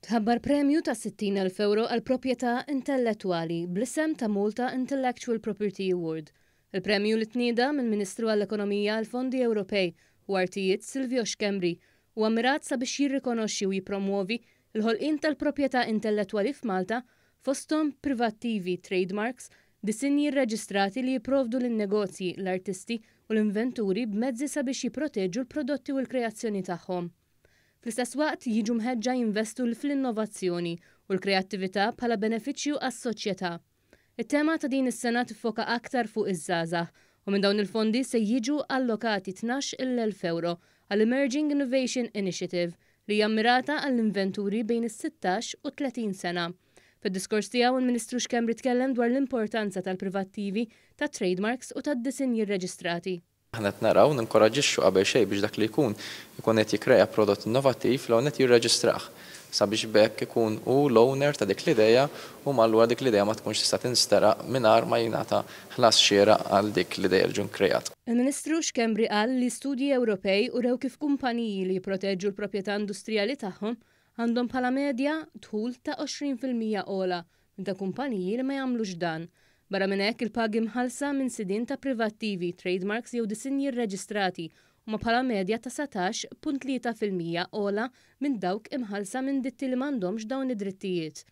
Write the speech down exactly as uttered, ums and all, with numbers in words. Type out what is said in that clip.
Tħabbar premju ta' sittin elf euro għal proprjetà intellettwali bl-isem ta' Malta Intellectual Property Award. Il-premju li tnieda mill-Ministru għall-Ekonomija, għall-Fondi Ewropej u Artijiet Silvio Schembri huwa mmirat sabiex jirrikonoxxi u jippromwovi l-ħolqien tal-proprjetà intellettwali f'Malta, fosthom privattivi, trademarks, disinji rreġistrati li jipprovdu lin-negozji, l-artisti u l-inventuri b'mezzi sabiex jipproteġu l-prodotti u l-kreazzjoni tagħhom. Fl-istess waqt jiġu mħeġġa jinvestu fl-innovazzjoni u l-kreattività bħala benefiċċju għas-soċjetà. It-tema ta' din is-sena tiffoka aktar fuq iż-żgħażagħ u minn dawn il-fondi se jiġu allokati tnax il elf euro għall-Emerging Innovation Initiative li hija mmirata għall-inventuri bejn is-sittax u tletin sena. Fid-diskors tiegħu, il-Ministru Schembri tkellem dwar l-importanza tal-privattivi, tat trademarks u tad-disinji rreġistrati. Aħna qed naraw ninkoraġġixxu qabel xejn biex dak li jkun ikun qed jikkrea prodott innovattiv l qed jirreġistrah sabiex b'hekk ikun hu l-owner ta' dik l-idea u allura dik l-idea ma tkunx tista' tinsteraq mingħajr ma jingħata ħlas xieraq għal dik l-idea li ġun kreat. Il-Ministru Schembri qal li studji Ewropej urew kif kumpaniji li jipproteġu l-proprjetà industrijali tagħhom għandhom bħala medja dħul ta' għoxrin fil-mija ogħla minn ta' kumpaniji li ma jagħmlux dan. Barra minn hekk, il-pagi mħallsa minn sidien ta' privattivi, trademarks jew disinji rreġistrati huma bħala medja ta' satax punt tlieta fil-mija ogħla minn dawk imħallsa minn ditti li m'għandhomx dawn id-drittijiet.